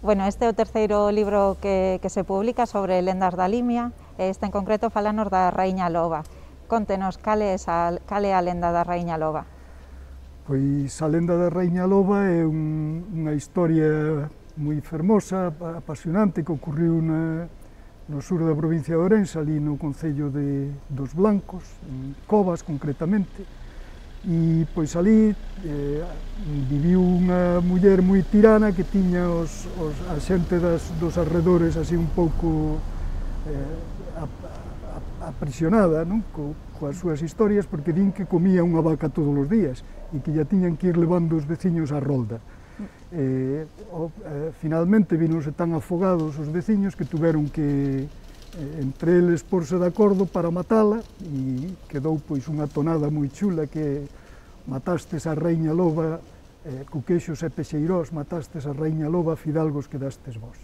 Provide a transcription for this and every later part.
Bueno, este é o terceiro libro que se publica sobre lendas da Limia, e este en concreto falanos da Raíña Loba. Contenos cal é a lenda da Raíña Loba. Pois a lenda da Raíña Loba é unha historia moi fermosa, apasionante, que ocorreu no sur da provincia de Ourense, ali no concello dos Blancos, en Covas concretamente, e pois ali viviu unha muller moi tirana que tiña a xente dos arredores así un pouco aprisionada, non? Coas súas historias, porque din que comía unha vaca todos os días e que ya tiñan que ir levando os veciños á rolda. Finalmente vinose tan afogados os veciños que tuveron que entre eles porse de acordo para matala, e quedou pois unha tonada moi chula que matastes a Raíña Loba, cuquexos e pexeirós, matastes a Raíña Loba, fidalgos quedastes vós.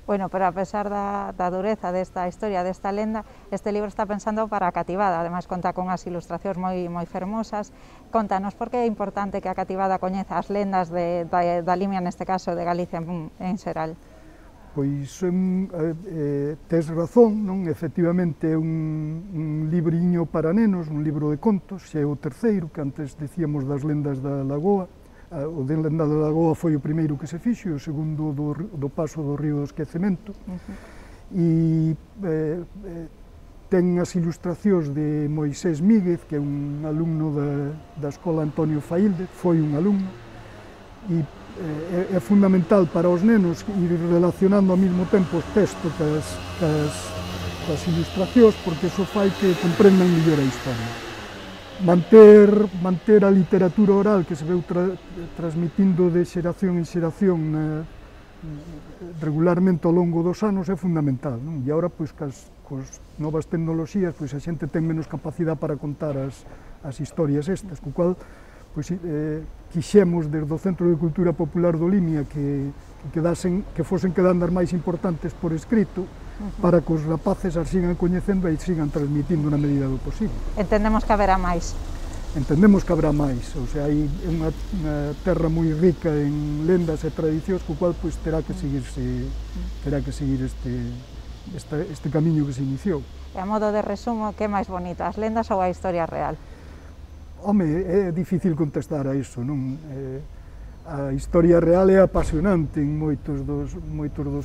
Bueno, pero a pesar da dureza desta historia, desta lenda, este libro está pensando para a cativada, ademais conta con as ilustracións moi fermosas. Contanos por que é importante que a cativada coñeza as lendas da Limia, neste caso de Galicia en xeral. Pois tes razón, non? Efectivamente é un libriño para nenos, un libro de contos, xa é o terceiro, que antes dicíamos das lendas da Lagoa. O de lenda da Lagoa foi o primeiro que se fixo, e o segundo do paso do río do esquecemento. E ten as ilustracións de Moisés Míguez, que é un alumno da Escola Antonio Faílde, foi un alumno, e é fundamental para os nenos ir relacionando ao mesmo tempo os textos cas ilustracións, porque iso fai que comprendan mellor a historia. Manter a literatura oral que se veu transmitindo de xeración en xeración regularmente ao longo dos anos é fundamental, non? E agora, pois, cos novas tecnoloxías, pois a xente ten menos capacidade para contar as historias estas, co cual pois, quixemos desde o Centro de Cultura Popular do Limia que fosen quedando as máis importantes por escrito, para que os rapaces as sigan coñecendo e sigan transmitindo na medida do posible. Entendemos que haberá máis. Entendemos que habrá máis, ou sea, hai unha terra moi rica en lendas e tradicións, co cual pois, terá que seguir este camiño que se iniciou. E a modo de resumo, que é máis bonito, as lendas ou a historia real? Home, é difícil contestar a iso, non? A historia real é apasionante en moitos dos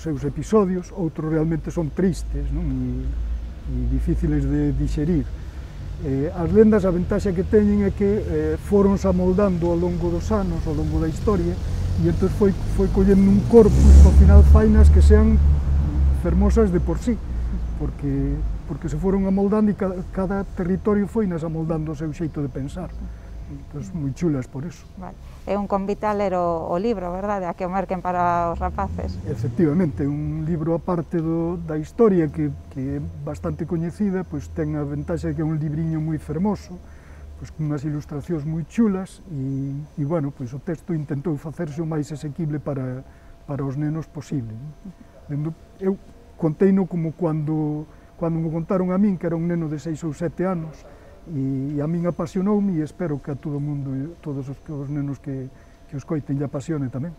seus episodios, outros realmente son tristes, non? E difíciles de digerir. As lendas, a ventaxa que teñen é que foronse amoldando ao longo dos anos, ao longo da historia, e entón foi collendo un corpus que ao final fainas que sean fermosas de por sí, porque se foron amoldando e cada territorio foi nas amoldando o seu xeito de pensar. Entón, moi chulas por eso. Vale. É un convite a ler o libro, verdade? A que o merquen para os rapaces. Efectivamente, un libro aparte da historia que é bastante coñecida, pois ten a ventaxa de que é un libriño moi fermoso, pois con unhas ilustracións moi chulas e bueno, pois o texto intentou facerse o máis asequible para os nenos posible. Eu conteino como cando me contaron a min, que era un neno de 6 ou 7 anos, e a min apasionoume e espero que a todo o mundo, todos os nenos que os coiten lle apasione tamén.